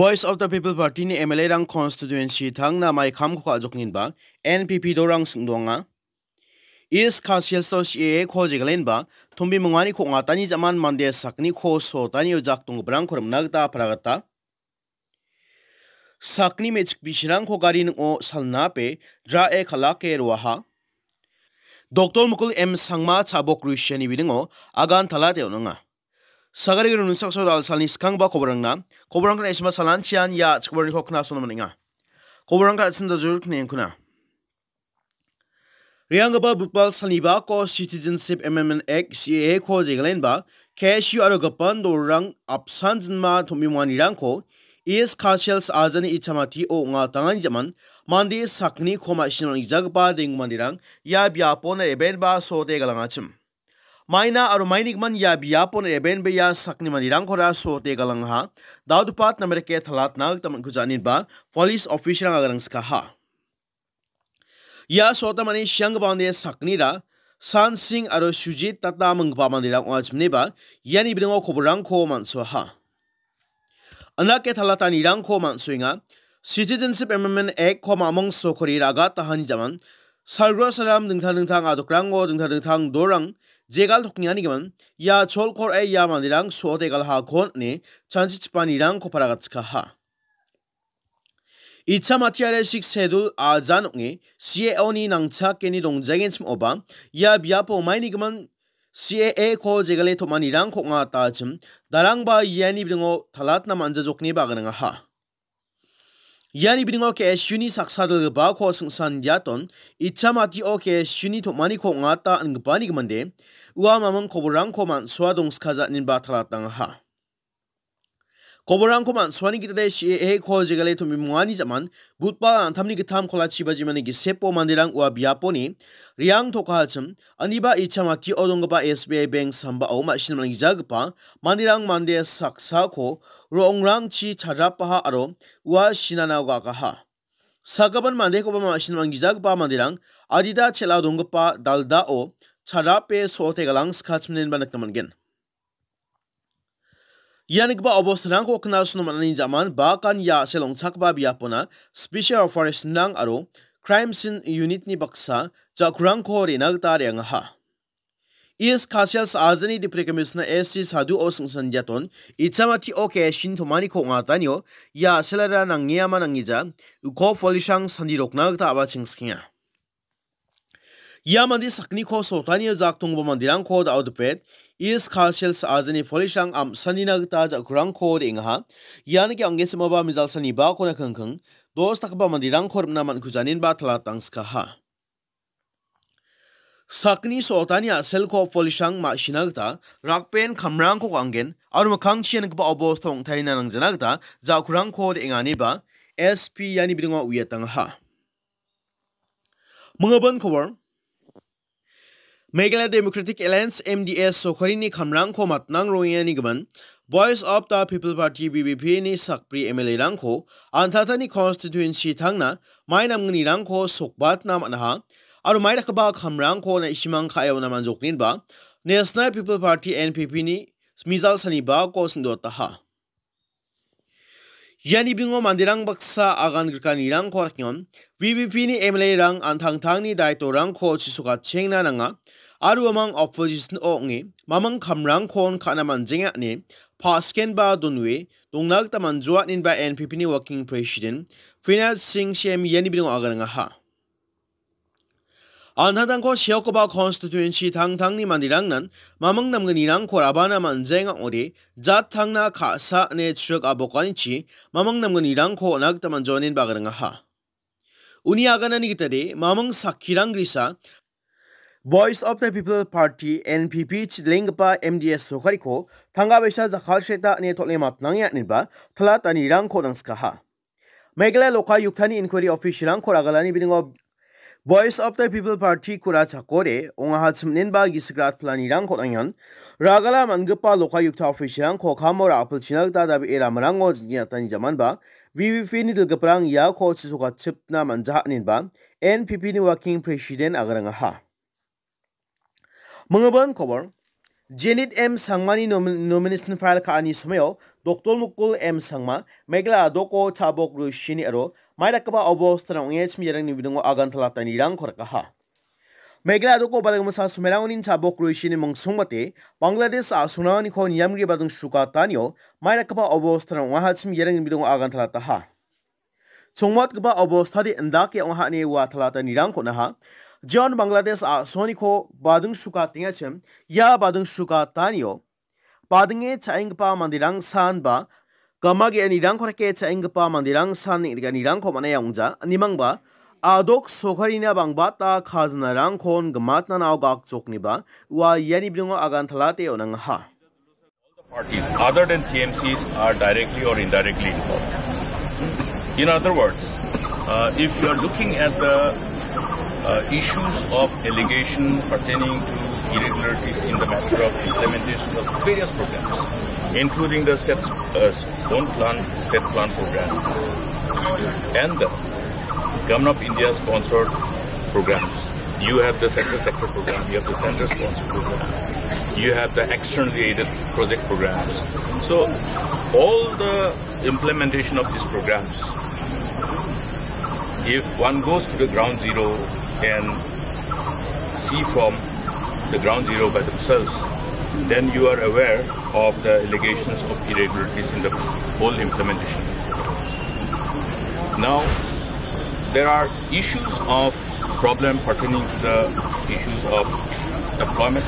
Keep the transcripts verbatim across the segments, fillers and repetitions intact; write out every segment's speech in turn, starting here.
Voice of the People Party-ni M L A-rang constituency tangna mai kamko ka·jokninba N P P dorang singdoanga. East Khasi Hills-o C A A-ko jegalenba tombi mingani ko ong·atani jaman mande sakgniko sotani ojak donggiparangko rimna gita apara gita sakgni me·chik bisirangko gari ning·o salna pe dra·e kal·ake roaha. Doktor Mukul M Sangma Chabok Rusiani bidingo agan talate on·anga. Sagari gari unusakso dalsalni skangba koborangna, koborangna isma salanchian ia chikbarniko knasona man·enga. Koborangka atsin dajur knengkuna. Re·anggipa Budbal salnibako Citizenship Amendment Act, C A A-ko jegalenba, K S U aro gipin dolrang apsan jinma tom·bimonganirangko East Khasi Hills ajani Ichamati-o ong·atangani jaman mande sakgniko ma·sina on·gijagipa denggimanirang ia biapon rebenba sote galangachim. Maina aro mainigimin ia biapon rebenba ia sakgni manderangkora sote galangaha. Daudpat namerike talatna gita man·kuja aninba police officer-rang agarangskaha. Ia sota mani sianggipa mande sakgnira San Singh aro Sujit Tata minggipa manderang ong·achimniba iani bidingo koborangko man·soaha. Andake talatanirangko man·soenga. Citizenship Amendment Act-ko mamung sokori ragatahani jaman salgro saram dingtang dingtang adokrango dingtang dingtang dorang jegal toknianigimin ia cholkor e ia manderang sote galhakon ine chanchichipanirangko paragatchikaha. Ichamati are Sixth Schedule ajan ong·e C A O-ni nangchakeni dongjagenchim oba ia biapo mainigimin C A A-ko jegale tom·anirangko ong·atachim darangba iani bidingo talatna man·jajokni baganangaha. Iani bidingo K S U-ni saksa dilgipako singsan diaton Ichamati-o K S U-ni tom·aniko ong·ata ingipani giminde ua mamung koborangko man·soa dongskaja aninba talatangaha. Koborangko man·soani gitade C A A-ko jegale tom·bimungani jaman Budbal an·tamni gittam kolachi bajimani gisepo manderang ua biaponi re·ang tokahachim, aniba Ichamati-o donggipa S B I Bank sambao ma·sina man·gijagipa manderang mande saksako ro·ongrangchi chadrapaha aro ua sinana ga·gaha. Sagipan mandekoba ma·sina man·gijagipa manderang adita chel·ao donggipa daldao chadrape so·ote galangskachimnenba nikna man·gen. Ia nikgipa obostarangko knasona man·ani jaman bakan ia a·sel ong·chakgipa biapona Special Operation-rang aro Crime Scene Unit-ni baksa ja·kurangko re·na gita re·angaha. East Khasi Hills ajani Deputy Commissioner S C Sadhu-o singsan diaton Ichamati-o K S U-ni tom·aniko ong·atanio ia a·selara nangeama nangija uko police-rang sandirokna gita a·bachengsikenga. Ia mande sakgniko sotanio jak tonggipa manderangko da·o dipet, East Khasi Hills ajani police-rang am·sanina gita ja·kurangko re·engaha. Ian ke ong·genchimoba mijalsani bakona kingking, dos dakgipa manderangko rimna man·kujaninba talatangskaha. Sakgni sotani a·selko police-rang ma·sina gita rakben kamrangko ka·angen aro mikkangchi ia nikgipa obosta ong·taina nangjana gita ja·kurangko re·enganiba S P iani bidingo uiatangaha. Minggipa kobor. Meghalaya Democratic Alliance, M D A, sorkarini kamrangko matnang rongengani gimin Voice of the People Party, V P P, ni sakbri M L A-rangko an·tangtangni constituency tangna mai namgnirangko sokbatna man·aha aro mai dakgipa kamrangko na·simang ka·e on·a man·jokninba National People Party, N P P, ni mijal sanibako singdotaha. Iani bidingo manderang baksa agan grikanirangko rakengon, V P P ni M L A-rang an·tangtangni daitorangko chisokachengna nanga, aro uamang opposition ong·e mamang kamrangkon ka·na man·jenga ine paskenba donue dongna gita man·joa inenba N P P ni Working President Finance Singh Shem iani bidingo aganangaha. An·tangtangko seokoba constituency tangtangni manderangnan mamang namgnirangko rabana man·jaenga ong·ode, jat tangna ka·sa ine chrik abokanichi mamang namgnirangko on·a gita man·joanin bagarangaha. Uni aganani gitade, mamang sakkirang grisa, Voice of the People Party, N P P, chidilenggipa M D A sorkariko tangka baisa jakkalseta ine tol·e matnange aniba talatanirangko nangskaha. Meghalaya lokaiyuktani inquiry officer-rangko ragalani bidingo Voice of the People Party-kora chakode ong·aha chimnenba gisik rat planirangko nangian. Ragala man·gipa lokaiyukta officer-rangko kamo ra·apilchina gita dabee ramarango jingiatani jamanba V P P-ni dilgiparang iako chisokachipna man·jaha inenba N P P-ni Working President agarangaha. Minggipa kobor. Janet M Sangmani nomi-, nomination file ka·ani somoio Doctor Mukul M Sangma, Meghalaya a·doko cha·bok roishini aro maidakgipa obostara ong·e chim iarangni bidingo agantalata inirangko rikaha. Meghalaya a·doko bading masa somerangoni cha·bok roishini mingsongbate Bangladesh a·songrangko niamgri bading sukatanio maidakgipa obostara ong·aha chim iarangni bidingo agantalataha. Chongmatgipa obostade indake ong·aha ine ua talata inirangko naha. Jeon Bangladesh a·soniko bading sukatengachim, ia bading sukatanio badinge cha·enggipa manderang san ba gama ge·anirangko rike cha·enggipa manderang san neng·gipanirangko man·a ong·ja. Nimangba a·dok sokarina bangbata khajanarangkon gimatna nao gakjokniba ua iani bidingo agantalate on·angaha. Parties other than T M Cs are directly or indirectly involved. In other words, uh, if you are looking at the uh, issues of allegation pertaining to irregularities in the matter of implementation of various programs, including the set, uh, own plan, set plan program, and the Government of India sponsored programs. You have the central sector program, you have the center sponsored program, you have the externally aided project programs. So all the implementation of these programs, if one goes to the ground zero and see from the ground zero by themselves, then you are aware of the allegations of irregularities in the whole implementation. Now, there are issues of problem pertaining to the issues of employment.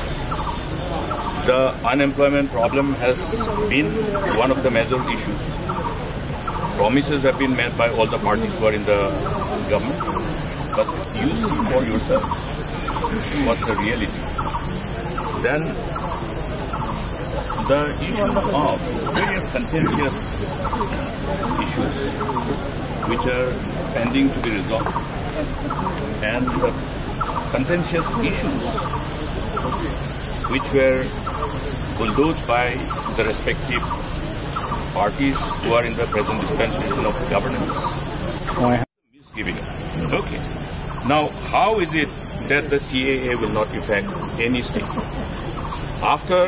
The unemployment problem has been one of the major issues. Promises have been made by all the parties who are in the government, but you see for yourself what's the reality. Then the issue of various contentious issues which are pending to be resolved, and the contentious issues which were bulldozed by the respective parties who are in the present dispensation of governance. Misgiving. Okay. Now, how is it that the C A A will not affect any state? After,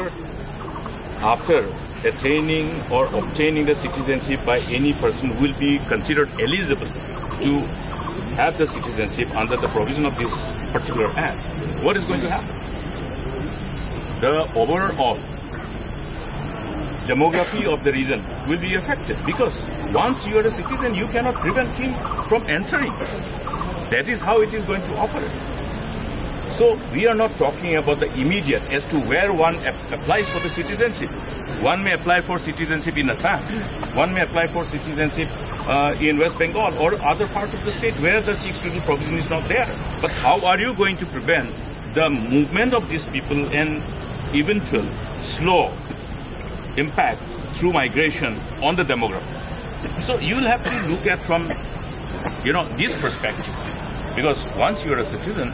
after attaining or obtaining the citizenship by any person who will be considered eligible to have the citizenship under the provision of this particular act, what is going to happen? The overall demography of the region will be affected, because once you are a citizen, you cannot prevent him from entering. That is how it is going to operate. So we are not talking about the immediate as to where one ap- applies for the citizenship. One may apply for citizenship in Assam. One may apply for citizenship uh, in West Bengal or other parts of the state where the Sixth Schedule provision is not there. But how are you going to prevent the movement of these people and eventual slow impact through migration on the demography? So you will have to look at from, you know, this perspective, because once you are a citizen,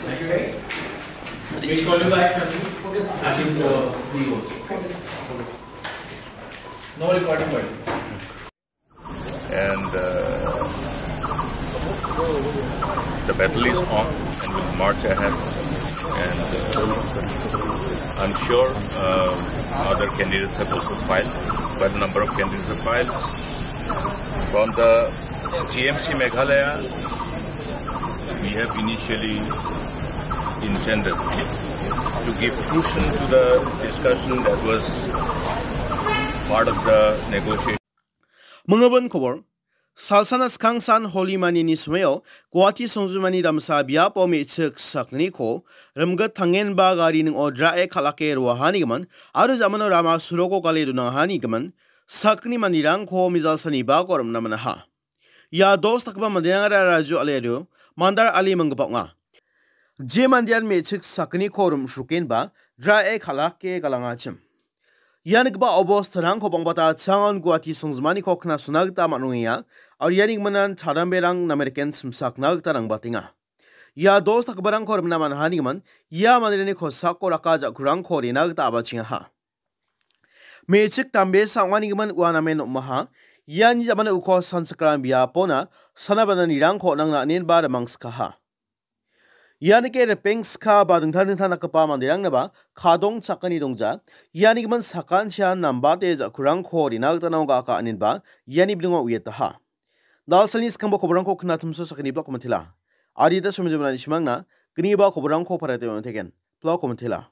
Thank you, guys. Please call you back. I think, uh, we go. No recording, buddy. And uh, the battle is on, and we'll march ahead. And uh, I'm sure uh, other candidates have also filed. Quite a number of candidates have filed. From the T M C Meghalaya, we have initially intended to give fruition to the discussion that was part of the negotiation. Mangabon Kobor, Salsana skangsan Holi Manini somoio Guwahati songjinmani damsa biapo me·chik sakgniko rimgit tangenba gari ning·o drae kal·ake roahanigimin aro jamano rama suroko gale donahanigimin sakgni manderangko mijalsani bako rim·na man·aha. Ia dos dakgipa manderangara Raju Aliario, Mandar Ali manggipa ong·a. Je mandean me·chik sakgniko rim·srokenba drae kal·ake galangachim. Ia nikgipa obostarangko bangbata changon Guwahati songjinmaniko knasona gita man·rongenga, aro ia nikgimin charamberang nameriken simsakna gita rangbatenga. Ia dos dakgiparangko rim·na man·ahanigimin ia manderangni kosako raka ja·kurangko rena gita abachengaha. Me·chik dambesa ong·anigimin ua namen om·aha. Iani jamano uko sanchakram biapona sana bananirangko on·angna inen ba rimangskaha. Ianike ripengska ba dingtang dingtang dakgipa manderangnaba kadong chakani dongja. Ianigimin sakantian nambate ja·kurangko rena gita naoga aka aninba iani bilingo uiataha. Dalsalni skangba koborangko knatimso sakani blog komentela. Adita somjemrani simangna gniba koborangko parate on·teken. Blog komentela.